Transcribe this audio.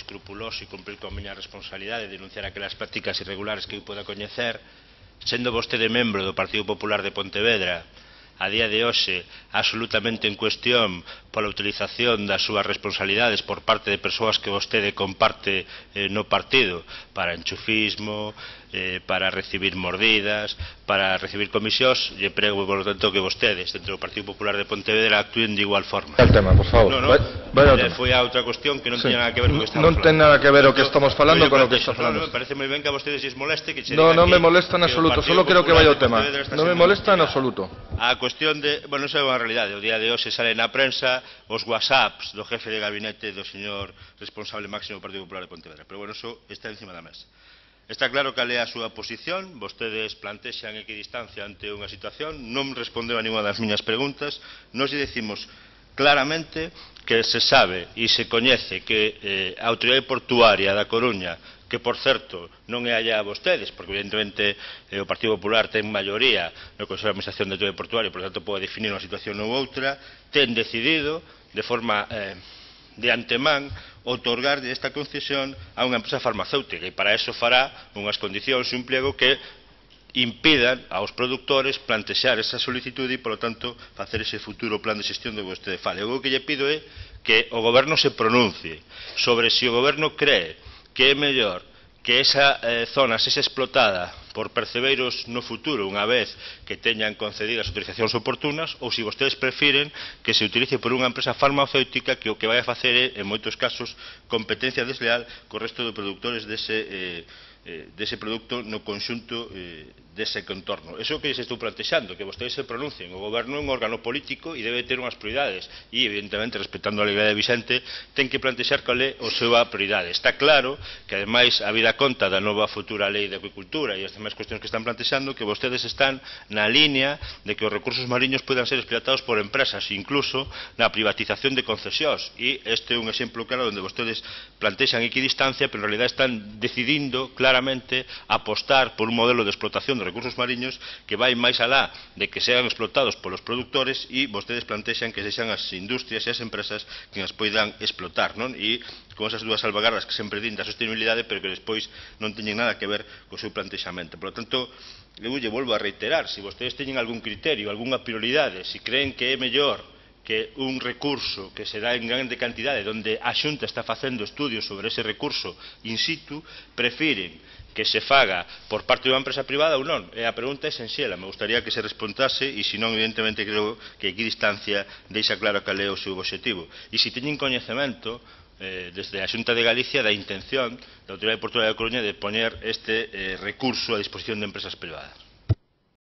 escrupuloso e cumprir con a miña responsabilidade de denunciar aquelas prácticas irregulares que eu poda coñecer, sendo vostede membro do Partido Popular de Pontevedra, a día de hoxe absolutamente en cuestión pola utilización das súas responsabilidades por parte de persoas que vostede comparte no partido para enchufismo, para recibir mordidas, para recibir comisións, e prego, por lo tanto, que vostedes, dentro do Partido Popular de Pontevedra, actúen de igual forma. El tema, por favor. Foi a outra cuestión que non tiña nada que ver con o que estamos falando. Non ten nada que ver o que estamos falando con o que está falando. Me parece moi ben que a vostedes lles moleste que No, non me molesta en absoluto, solo quero que vaya o tema. Non me molesta en absoluto. A cuestión de, bueno, non é unha realidade, o día de hoxe sale na prensa os whatsapps do jefe de gabinete do señor responsable máximo do Partido Popular de Pontevedra, pero bueno, eso está encima da mesa. Está claro cal é a súa posición, vostedes plantexan equidistancia ante unha situación, non respondeu a ninguna das miñas preguntas, nos decimos claramente que se sabe e se coñece que a Autoridade Portuaria da Coruña, que por certo non é allá a vostedes, porque evidentemente o Partido Popular ten maioría no Consello de Administración da Autoridade Portuaria, por tanto pode definir unha situación ou outra, ten decidido de forma de antemán outorgar esta concesión a unha empresa farmacéutica e para eso fará unhas condicións e un pliego que impidan aos produtores plantexar esa solicitude e, polo tanto, facer ese futuro plan de xestión do que vostede fale. O que lle pido é que o Goberno se pronuncie sobre se o Goberno cree que é mellor que esa zona sexa explotada por percebeiros no futuro unha vez que teñan concedidas as autorizacións oportunas ou se vostedes prefiren que se utilice por unha empresa farmacéutica que o que vai a facer é, en moitos casos, competencia desleal co resto de produtores dese produto no conxunto dese contorno. Eso é o que se estou plantexando, que vostedes se pronuncien. O Goberno é un órgano político e debe ter unhas prioridades e, evidentemente, respetando a legalidade vixente, ten que plantexar cal é a súa prioridade. Está claro que, ademais, a vida conta da nova futura lei de acuicultura e as demais cuestións que están plantexando, que vostedes están na línea de que os recursos mariños podan ser explotados por empresas, incluso na privatización de concesións. E este é un exemplo claro onde vostedes plantexan equidistancia, pero en realidad están decidindo claramente apostar por un modelo de explotación de recursos mariños que vai máis alá de que sean explotados polos produtores e vostedes plantexan que sexan as industrias e as empresas que as poidan explotar, non? E con esas dúas salvagardas que sempre din da sostenibilidade, pero que despois non teñen nada que ver co seu plantexamento. Por lo tanto, eu lle volvo a reiterar, se vostedes teñen algún criterio, algunha prioridade, se creen que é mellor que un recurso que se dá en grande cantidade onde a Xunta está facendo estudios sobre ese recurso in situ, prefiren que se faga por parte dunha empresa privada ou non? E a pregunta é senxela, me gustaría que se respondase e se non, evidentemente, creo que equidistancia deixa claro cal é o seu objetivo. E se teñen coñecemento desde a Xunta de Galicia da intención da Autoridade Portuaria da Coruña de poñer este recurso a disposición de empresas privadas.